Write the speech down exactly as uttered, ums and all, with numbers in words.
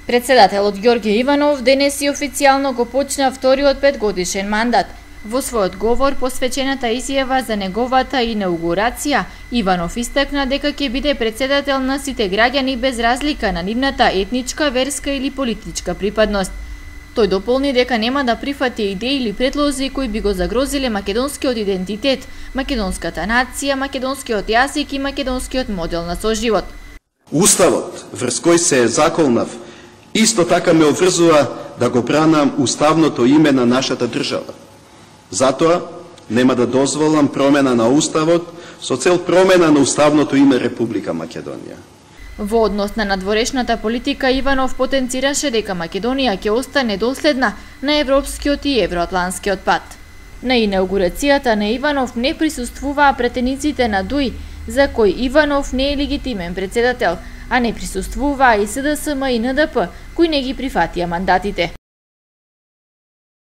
Председателот Ѓорѓе Иванов денес и официјално го почна вториот петгодишен мандат. Во својот говор посвечената изјава за неговата инаугурација, Иванов истакна дека ќе биде председател на сите граѓани без разлика на нивната етничка, верска или политичка припадност. Тој дополни дека нема да прифати идеи или предлози кои би го загрозиле македонскиот идентитет, македонската нација, македонскиот јазик и македонскиот модел на соживот. Уставот, врз кој се заколнав, исто така ме обврзува да го бранам уставното име на нашата држава. Затоа нема да дозволам промена на уставот со цел промена на уставното име Република Македонија. Во однос на надворешната политика, Иванов потенцираше дека Македонија ќе остане доследна на европскиот и евроатланскиот пат. На инаугурацијата на Иванов не присуствуваа претениците на ДУИ, за кој Иванов не е легитимен председател, а не присуствуваа и СДСМ и НДП, кои не ги прифатија мандатите.